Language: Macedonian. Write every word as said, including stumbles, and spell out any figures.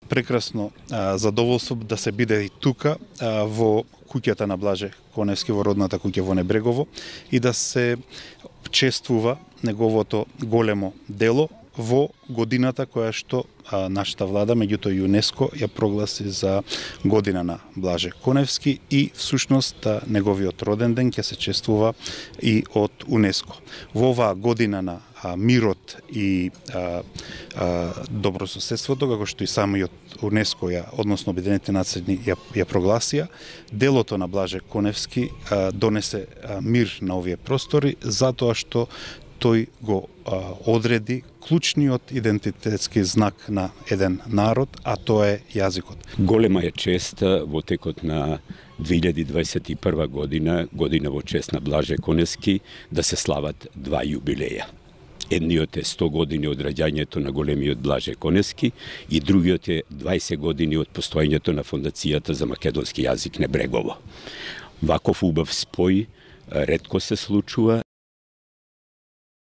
прекрасно задоволство да се биде и тука во куќата на Блаже Коневски, во родната куќа во Небрегово, и да се чествува неговото големо дело во годината која што а, нашата влада, меѓуто ЮНЕСКО, ја прогласи за година на Блаже Коневски, и всушност а, неговиот роден ден ќе се чествува и од ЮНЕСКО. Во оваа година на а, мирот и а, а, добрососедството, како што и самиот ЮНЕСКО ја, односно Обединетите нации ја, ја прогласија, делото на Блаже Коневски а, донесе а, мир на овие простори, затоа што тој го а, одреди клучниот идентитетски знак на еден народ, а тоа е јазикот. Голема е чест во текот на две илјади дваесет и прва година, година во чест на Блаже Коневски, да се слават два јубилеја. Едниот е сто години од раѓањето на големиот Блаже Коневски и другиот е дваесет години од постоењето на Фондацијата за македонски јазик Небрегово. Ваков убав спој ретко се случува.